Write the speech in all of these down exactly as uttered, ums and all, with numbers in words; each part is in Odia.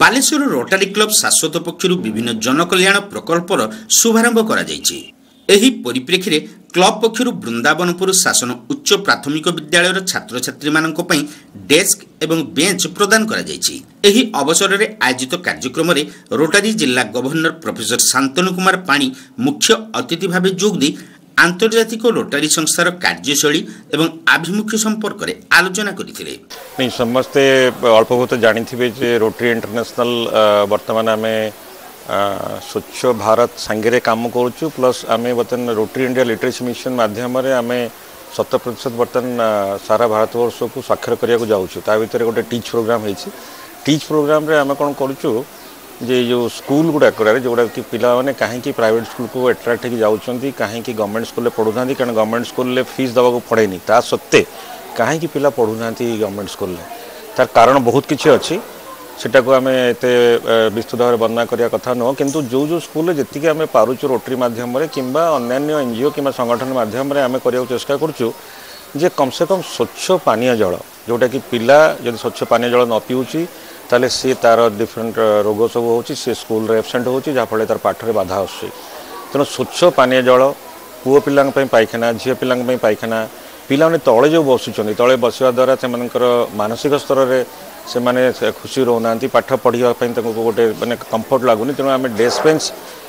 ବାଲେଶ୍ୱର ରୋଟାରୀ କ୍ଲବ ଶାଶ୍ୱତ ପକ୍ଷରୁ ବିଭିନ୍ନ ଜନକଲ୍ୟାଣ ପ୍ରକଳ୍ପର ଶୁଭାରମ୍ଭ କରାଯାଇଛି। ଏହି ପରିପ୍ରେକ୍ଷୀରେ କ୍ଲବ ପକ୍ଷରୁ ବୃନ୍ଦାବନପୁର ଶାସନ ଉଚ୍ଚ ପ୍ରାଥମିକ ବିଦ୍ୟାଳୟର ଛାତ୍ରଛାତ୍ରୀମାନଙ୍କ ପାଇଁ ଡେସ୍କ ଏବଂ ବେଞ୍ଚ ପ୍ରଦାନ କରାଯାଇଛି। ଏହି ଅବସରରେ ଆୟୋଜିତ କାର୍ଯ୍ୟକ୍ରମରେ ରୋଟାରୀ ଜିଲ୍ଲା ଗଭର୍ଣ୍ଣର ପ୍ରଫେସର ଶାନ୍ତନୁ କୁମାର ପାଣି ମୁଖ୍ୟ ଅତିଥି ଭାବେ ଯୋଗ ଦେଇ ଆନ୍ତର୍ଜାତିକ ରୋଟାରୀ ସଂସ୍ଥାର କାର୍ଯ୍ୟଶୈଳୀ ଏବଂ ଆଭିମୁଖ୍ୟ ସମ୍ପର୍କରେ ଆଲୋଚନା କରିଥିଲେ। ନାଇଁ, ସମସ୍ତେ ଅଳ୍ପ ବହୁତ ଜାଣିଥିବେ ଯେ ରୋଟାରୀ ଇଣ୍ଟରନ୍ୟାସନାଲ ବର୍ତ୍ତମାନ ଆମେ ସ୍ୱଚ୍ଛ ଭାରତ ସାଙ୍ଗରେ କାମ କରୁଛୁ, ପ୍ଲସ୍ ଆମେ ବର୍ତ୍ତମାନ ରୋଟାରୀ ଇଣ୍ଡିଆ ଲିଟରେସି ମିଶନ ମାଧ୍ୟମରେ ଆମେ ଶତ ପ୍ରତିଶତ ବର୍ତ୍ତମାନ ସାରା ଭାରତବର୍ଷକୁ ସ୍ୱାକ୍ଷର କରିବାକୁ ଯାଉଛୁ। ତା ଭିତରେ ଗୋଟେ ଟିଚ୍ ପ୍ରୋଗ୍ରାମ୍ ହେଇଛି। ଟିଚ୍ ପ୍ରୋଗ୍ରାମରେ ଆମେ କ'ଣ କରୁଛୁ ଯେ ଯେଉଁ ସ୍କୁଲ ଗୁଡ଼ାକରେ, ଯେଉଁଗୁଡ଼ାକ କି ପିଲାମାନେ କାହିଁକି ପ୍ରାଇଭେଟ୍ ସ୍କୁଲକୁ ଆଟ୍ରାକ୍ଟ ହେଇକି ଯାଉଛନ୍ତି, କାହିଁକି ଗଭର୍ଣ୍ଣମେଣ୍ଟ ସ୍କୁଲରେ ପଢ଼ୁନାହାନ୍ତି? କାରଣ ଗଭର୍ଣ୍ଣମେଣ୍ଟ ସ୍କୁଲରେ ଫିସ୍ ଦେବାକୁ ପଡ଼େନି। ତା ସତ୍ତ୍ୱେ କାହିଁକି ପିଲା ପଢ଼ୁନାହାନ୍ତି ଗଭର୍ଣ୍ଣମେଣ୍ଟ ସ୍କୁଲରେ? ତାର କାରଣ ବହୁତ କିଛି ଅଛି, ସେଟାକୁ ଆମେ ଏତେ ବିସ୍ତୃତ ଭାବରେ ବର୍ଣ୍ଣନା କରିବା କଥା ନୁହଁ। କିନ୍ତୁ ଯେଉଁ ଯେଉଁ ସ୍କୁଲରେ ଯେତିକି ଆମେ ପାରୁଛୁ, ରୋଟରୀ ମାଧ୍ୟମରେ କିମ୍ବା ଅନ୍ୟାନ୍ୟ ଏନ୍ ଜି ଓ କିମ୍ବା ସଂଗଠନ ମାଧ୍ୟମରେ ଆମେ କରିବାକୁ ଚେଷ୍ଟା କରୁଛୁ ଯେ କମ୍ ସେ କମ୍ ସ୍ୱଚ୍ଛ ପାନୀୟ ଜଳ, ଯେଉଁଟାକି ପିଲା ଯଦି ସ୍ୱଚ୍ଛ ପାନୀୟ ଜଳ ନ ପିଉଛି, ତାହେଲେ ସିଏ ତା'ର ଡିଫରେଣ୍ଟ ରୋଗ ସବୁ ହେଉଛି, ସିଏ ସ୍କୁଲରେ ଏବସେଣ୍ଟ ହେଉଛି, ଯାହାଫଳରେ ତା'ର ପାଠରେ ବାଧା ଆସୁଛି। ତେଣୁ ସ୍ୱଚ୍ଛ ପାନୀୟ ଜଳ, ପୁଅ ପିଲାଙ୍କ ପାଇଁ ପାଇଖାନା, ଝିଅ ପିଲାଙ୍କ ପାଇଁ ପାଇଖାନା, ପିଲାମାନେ ତଳେ ଯେଉଁ ବସୁଛନ୍ତି, ତଳେ ବସିବା ଦ୍ୱାରା ସେମାନଙ୍କର ମାନସିକ ସ୍ତରରେ ସେମାନେ ଖୁସି ରହୁନାହାନ୍ତି, ପାଠ ପଢ଼ିବା ପାଇଁ ତାଙ୍କୁ ଗୋଟେ ମାନେ କମ୍ଫର୍ଟ ଲାଗୁନି। ତେଣୁ ଆମେ ଡେସ୍କ ବେଞ୍ଚ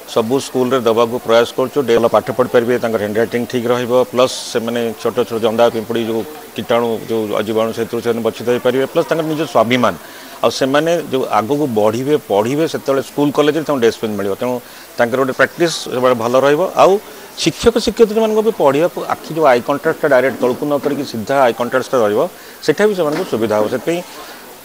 ସବୁ ସ୍କୁଲରେ ଦେବାକୁ ପ୍ରୟାସ କରୁଛୁ। ଭଲ ପାଠ ପଢ଼ିପାରିବେ, ତାଙ୍କର ହ୍ୟାଣ୍ଡ ରାଇଟିଂ ଠିକ୍ ରହିବ, ପ୍ଲସ୍ ସେମାନେ ଛୋଟ ଛୋଟ ଜନ୍ଦା ପିମ୍ପୁଡ଼ି ଯେଉଁ କୀଟାଣୁ, ଯେଉଁ ଜୀବାଣୁ, ସେଥିରୁ ସେମାନେ ବଞ୍ଚିତ ହୋଇପାରିବେ। ପ୍ଲସ୍ ତାଙ୍କର ନିଜ ସ୍ୱାଭିମାନ, ଆଉ ସେମାନେ ଯେଉଁ ଆଗକୁ ବଢ଼ିବେ, ପଢ଼ିବେ, ସେତେବେଳେ ସ୍କୁଲ କଲେଜରେ ତାଙ୍କୁ ଡେସ୍କ ବେଞ୍ଚ ମିଳିବ। ତେଣୁ ତାଙ୍କର ଗୋଟେ ପ୍ରାକ୍ଟିସ୍ ସବୁବେଳେ ଭଲ ରହିବ। ଆଉ ଶିକ୍ଷକ ଶିକ୍ଷୟିତ୍ରୀମାନଙ୍କୁ ବି ପଢ଼ିବାକୁ ଆଖି ଯେଉଁ I କଣ୍ଟାକ୍ଟଟା ଡାଇରେକ୍ଟ ତଳକୁ ନ କରିକି ସିଧା I କଣ୍ଟାକ୍ଟଟା ରହିବ, ସେଟା ବି ସେମାନଙ୍କୁ ସୁବିଧା ହେବ। ସେଥିପାଇଁ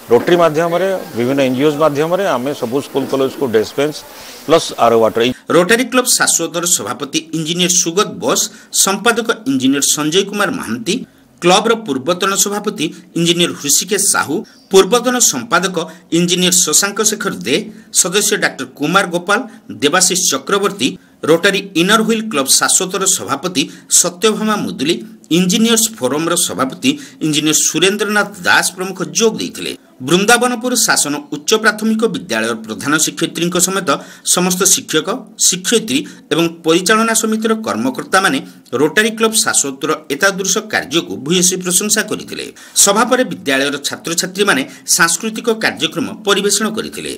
ରୋଟରୀ ମାଧ୍ୟମରେ, ବିଭିନ୍ନ ଏନ୍ ଜି ଓଜ୍ ମାଧ୍ୟମରେ ଆମେ ସବୁ ସ୍କୁଲ କଲେଜକୁ desk bench plus RO water. Rotary club ଶାଶ୍ୱତର ସଭାପତି ଇଞ୍ଜିନିୟର ସୁଗତ ବୋଷ, ସମ୍ପାଦକ ଇଞ୍ଜିନିୟର ସଞ୍ଜୟ କୁମାର ମହାନ୍ତି, କ୍ଲବର ପୂର୍ବତନ ସଭାପତି ଇଞ୍ଜିନିୟର ହୃଷିକେଶ ସାହୁ, ପୂର୍ବତନ ସମ୍ପାଦକ ଇଞ୍ଜିନିୟର ଶଶାଙ୍କ ଶେଖର ଦେ, ସଦସ୍ୟ ଡାକ୍ତର Kumar Gopal, Debashish Chakraborty, rotary inner wheel club ଶାଶ୍ୱତର ସଭାପତି ସତ୍ୟଭାମା ମୁଦୁଲି, ଇଞ୍ଜିନିୟର୍ସ ଫୋରମର ସଭାପତି ଇଞ୍ଜିନିୟର ସୁରେନ୍ଦ୍ରନାଥ ଦାସ ପ୍ରମୁଖ ଯୋଗ ଦେଇଥିଲେ। ବୃନ୍ଦାବନପୁର ଶାସନ ଉଚ୍ଚ ପ୍ରାଥମିକ ବିଦ୍ୟାଳୟର ପ୍ରଧାନ ଶିକ୍ଷୟିତ୍ରୀଙ୍କ ସମେତ ସମସ୍ତ ଶିକ୍ଷକ ଶିକ୍ଷୟିତ୍ରୀ ଏବଂ ପରିଚାଳନା ସମିତିର କର୍ମକର୍ତ୍ତାମାନେ ରୋଟାରୀ କ୍ଲବ ଶାଶ୍ୱତର ଏତାଦୃଶ କାର୍ଯ୍ୟକୁ ଭୂୟସୀ ପ୍ରଶଂସା କରିଥିଲେ। ସଭା ପରେ ବିଦ୍ୟାଳୟର ଛାତ୍ରଛାତ୍ରୀମାନେ ସାଂସ୍କୃତିକ କାର୍ଯ୍ୟକ୍ରମ ପରିବେଷଣ କରିଥିଲେ।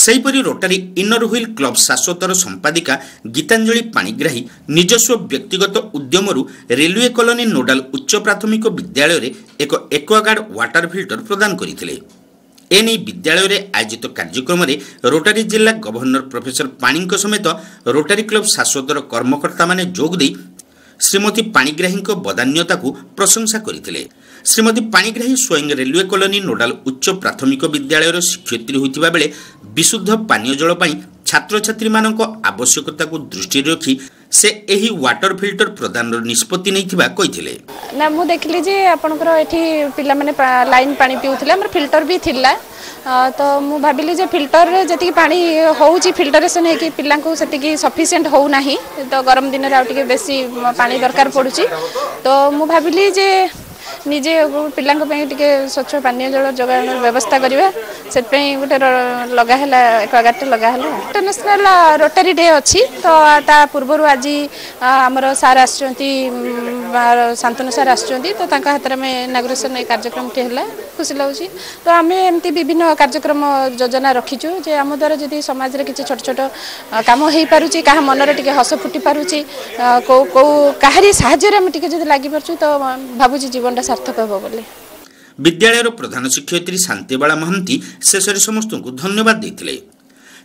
ସେହିପରି ରୋଟାରୀ ଇନର ହୁଇଲ୍ କ୍ଲବ ଶାଶ୍ୱତର ସମ୍ପାଦିକା ଗୀତାଞ୍ଜଳି ପାଣିଗ୍ରାହୀ ନିଜସ୍ୱ ବ୍ୟକ୍ତିଗତ ଉଦ୍ୟମରୁ ରେଲୱେ କଲୋନୀ ନୋଡାଲ ଉଚ୍ଚ ପ୍ରାଥମିକ ବିଦ୍ୟାଳୟରେ ଏକ ଏକ୍ୱାଗାର୍ଡ ୱାଟର ଫିଲ୍ଟର ପ୍ରଦାନ କରିଥିଲେ। ଏନେଇ ବିଦ୍ୟାଳୟରେ ଆୟୋଜିତ କାର୍ଯ୍ୟକ୍ରମରେ ରୋଟାରୀ ଜିଲ୍ଲା ଗଭର୍ଣ୍ଣର ପ୍ରଫେସର ପାଣିଙ୍କ ସମେତ ରୋଟାରୀ କ୍ଲବ ଶାଶ୍ୱତର କର୍ମକର୍ତ୍ତାମାନେ ଯୋଗ ଦେଇ ଶ୍ରୀମତୀ ପାଣିଗ୍ରାହୀଙ୍କ ବଦାନ୍ୟତାକୁ ପ୍ରଶଂସା କରିଥିଲେ। ଶ୍ରୀମତୀ ପାଣିଗ୍ରାହୀ ସ୍ୱୟଂ ରେଲୱେ କଲୋନୀ ନୋଡାଲ ଉଚ୍ଚ ପ୍ରାଥମିକ ବିଦ୍ୟାଳୟର ଶିକ୍ଷୟିତ୍ରୀ ହୋଇଥିବା ବେଳେ ବିଶୁଦ୍ଧ ପାନୀୟ ଜଳ ପାଇଁ ଛାତ୍ରଛାତ୍ରୀମାନଙ୍କ ଆବଶ୍ୟକତାକୁ ଦୃଷ୍ଟିରେ ରଖି ସେ ଏହି ୱାଟର ଫିଲ୍ଟର ପ୍ରଦାନର ନିଷ୍ପତ୍ତି ନେଇଥିବା କହିଥିଲେ। ନା, ମୁଁ ଦେଖିଲି ଯେ ଆପଣଙ୍କର ଏଠି ପିଲାମାନେ ଲାଇନ୍ ପାଣି ପିଉଥିଲେ, ଆମର ଫିଲ୍ଟର ବି ଥିଲା। ତ ମୁଁ ଭାବିଲି ଯେ ଫିଲ୍ଟରରେ ଯେତିକି ପାଣି ହେଉଛି, ଫିଲ୍ଟରେସନ୍ ହେଇକି ପିଲାଙ୍କୁ ସେତିକି ସଫିସିଏଣ୍ଟ ହେଉନାହିଁ। ତ ଗରମ ଦିନରେ ଆଉ ଟିକେ ବେଶୀ ପାଣି ଦରକାର ପଡ଼ୁଛି। ତ ମୁଁ ଭାବିଲି ଯେ ନିଜେ ପିଲାଙ୍କ ପାଇଁ ଟିକେ ସ୍ୱଚ୍ଛ ପାନୀୟ ଜଳ ଯୋଗାଣର ବ୍ୟବସ୍ଥା କରିବା। ସେଥିପାଇଁ ଗୋଟେ ଲଗା ହେଲା, ଏକ୍ୱାଗାର୍ଡ଼ଟେ ଲଗା ହେଲା। ଇଣ୍ଟରନ୍ୟାସନାଲ ରୋଟାରୀ ଡେ ଅଛି, ତ ତା ପୂର୍ବରୁ ଆଜି ଆମର ସାର୍ ଆସିଛନ୍ତି, ଶାନ୍ତନୁ ସାର୍ ଆସିଛନ୍ତି, ତ ତାଙ୍କ ହାତରେ ଆମେ ଇନାଗୁରେସନ୍ ଏଇ କାର୍ଯ୍ୟକ୍ରମଟି ହେଲା। ଖୁସି ଲାଗୁଛି। ତ ଆମେ ଏମିତି ବିଭିନ୍ନ କାର୍ଯ୍ୟକ୍ରମ ଯୋଜନା ରଖିଛୁ ଯେ ଆମ ଦ୍ୱାରା ଯଦି ସମାଜରେ କିଛି ଛୋଟ ଛୋଟ କାମ ହେଇପାରୁଛି, କାହା ମନରେ ଟିକେ ହସ ଫୁଟି ପାରୁଛି, କେଉଁ କେଉଁ କାହାରି ସାହାଯ୍ୟରେ ଆମେ ଟିକେ ଯଦି ଲାଗିପାରୁଛୁ, ତ ଭାବୁଛି ଜୀବନଟା ସାର୍ଥକ ହେବ ବୋଲି। ବିଦ୍ୟାଳୟର ପ୍ରଧାନ ଶିକ୍ଷୟିତ୍ରୀ ଶାନ୍ତିବାଳା ମହାନ୍ତି ଶେଷରେ ସମସ୍ତଙ୍କୁ ଧନ୍ୟବାଦ ଦେଇଥିଲେ।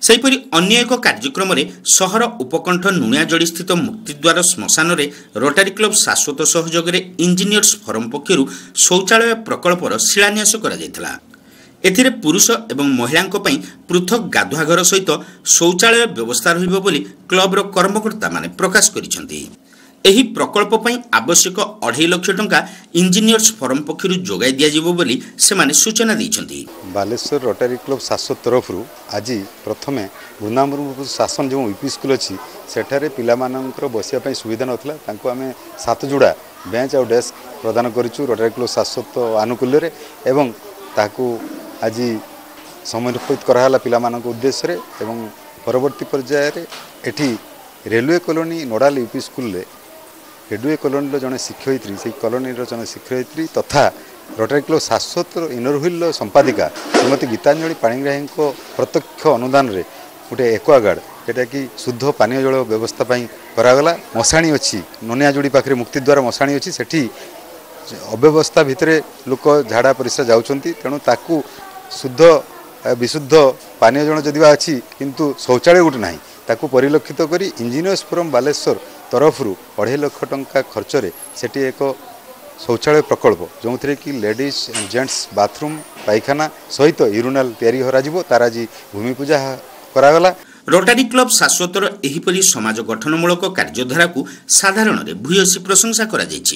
ସେହିପରି ଅନ୍ୟ ଏକ କାର୍ଯ୍ୟକ୍ରମରେ ସହର ଉପକଣ୍ଠ ନୁଣିଆଜଡ଼ିସ୍ଥିତ ମୁକ୍ତିଦ୍ୱାର ଶ୍ମଶାନରେ ରୋଟାରୀ କ୍ଲବ ଶାଶ୍ୱତ ସହଯୋଗରେ ଇଞ୍ଜିନିୟର୍ସ ଫୋରମ ପକ୍ଷରୁ ଶୌଚାଳୟ ପ୍ରକଳ୍ପର ଶିଳାନ୍ୟାସ କରାଯାଇଥିଲା। ଏଥିରେ ପୁରୁଷ ଏବଂ ମହିଳାଙ୍କ ପାଇଁ ପୃଥକ ଗାଧୁଆଘର ସହିତ ଶୌଚାଳୟ ବ୍ୟବସ୍ଥା ରହିବ ବୋଲି କ୍ଲବର କର୍ମକର୍ତ୍ତାମାନେ ପ୍ରକାଶ କରିଛନ୍ତି। ଏହି ପ୍ରକଳ୍ପ ପାଇଁ ଆବଶ୍ୟକ ଅଢ଼େଇ ଲକ୍ଷ ଟଙ୍କା ଇଞ୍ଜିନିୟର୍ସ ଫୋରମ୍ ପକ୍ଷରୁ ଯୋଗାଇ ଦିଆଯିବ ବୋଲି ସେମାନେ ସୂଚନା ଦେଇଛନ୍ତି। ବାଲେଶ୍ୱର ରୋଟାରୀ କ୍ଲବ ଶାଶ୍ୱତ ତରଫରୁ ଆଜି ପ୍ରଥମେ ବୃନ୍ଦାବନପୁର ଶାସନ ଯେଉଁ ୟୁପି ସ୍କୁଲ ଅଛି, ସେଠାରେ ପିଲାମାନଙ୍କର ବସିବା ପାଇଁ ସୁବିଧା ନଥିଲା। ତାଙ୍କୁ ଆମେ ସାତ ଯୋଡ଼ା ବେଞ୍ଚ ଆଉ ଡେସ୍କ ପ୍ରଦାନ କରିଛୁ ରୋଟାରୀ କ୍ଲବ ଶାଶ୍ୱତ ଆନୁକୂଲ୍ୟରେ, ଏବଂ ତାହାକୁ ଆଜି ସମର୍ପିତ କରାହେଲା ପିଲାମାନଙ୍କ ଉଦ୍ଦେଶ୍ୟରେ। ଏବଂ ପରବର୍ତ୍ତୀ ପର୍ଯ୍ୟାୟରେ ଏଠି ରେଲୱେ କଲୋନୀ ନୋଡ଼ାଲ ୟୁପି ସ୍କୁଲରେ ରେଲୱେ କଲୋନୀର ଜଣେ ଶିକ୍ଷୟିତ୍ରୀ, ସେଇ କଲୋନୀର ଜଣେ ଶିକ୍ଷୟିତ୍ରୀ ତଥା ରୋଟାରୀ କ୍ଲବ ଶାଶ୍ୱତର ଇନର ହ୍ୱିଲ୍ର ସମ୍ପାଦିକା ଶ୍ରୀମତୀ ଗୀତାଞ୍ଜଳି ପାଣିଗ୍ରାହୀଙ୍କ ପ୍ରତ୍ୟକ୍ଷ ଅନୁଦାନରେ ଗୋଟେ ଏକ୍ୱାଗାର୍ଡ଼, ଯେଉଁଟାକି ଶୁଦ୍ଧ ପାନୀୟ ଜଳ ବ୍ୟବସ୍ଥା ପାଇଁ କରାଗଲା। ମଶାଣି ଅଛି ନନିଆଯୋଡ଼ି ପାଖରେ, ମୁକ୍ତିଦ୍ୱାର ମଶାଣି ଅଛି, ସେଠି ଅବ୍ୟବସ୍ଥା ଭିତରେ ଲୋକ ଝାଡ଼ା ପରିସ୍ରା ଯାଉଛନ୍ତି। ତେଣୁ ତାକୁ ଶୁଦ୍ଧ ବିଶୁଦ୍ଧ ପାନୀୟ ଜଳ ଯଦି ବା ଅଛି, କିନ୍ତୁ ଶୌଚାଳୟ ଗୋଟେ ନାହିଁ। ତାକୁ ପରିଲକ୍ଷିତ କରି ଇଞ୍ଜିନିୟର୍ସ ଫୋରମ୍ ବାଲେଶ୍ୱର ତରଫରୁ ଅଢ଼େଇ ଲକ୍ଷ ଟଙ୍କା ଖର୍ଚ୍ଚରେ ସେଠି ଏକ ଶୌଚାଳୟ ପ୍ରକଳ୍ପ, ଯେଉଁଥିରେ କି ଲେଡ଼ିଜ୍ ଆଣ୍ଡ ଜେଣ୍ଟସ୍ ବାଥରୁମ୍, ପାଇଖାନା ସହିତ ୟୁରିନାଲ ତିଆରି କରାଯିବ, ତାର ଆଜି ଭୂମି ପୂଜା କରାଗଲା। ରୋଟାରୀ କ୍ଲବ ଶାଶ୍ୱତର ଏହିପରି ସମାଜ ଗଠନମୂଳକ କାର୍ଯ୍ୟଧାରାକୁ ସାଧାରଣରେ ଭୂୟସୀ ପ୍ରଶଂସା କରାଯାଇଛି।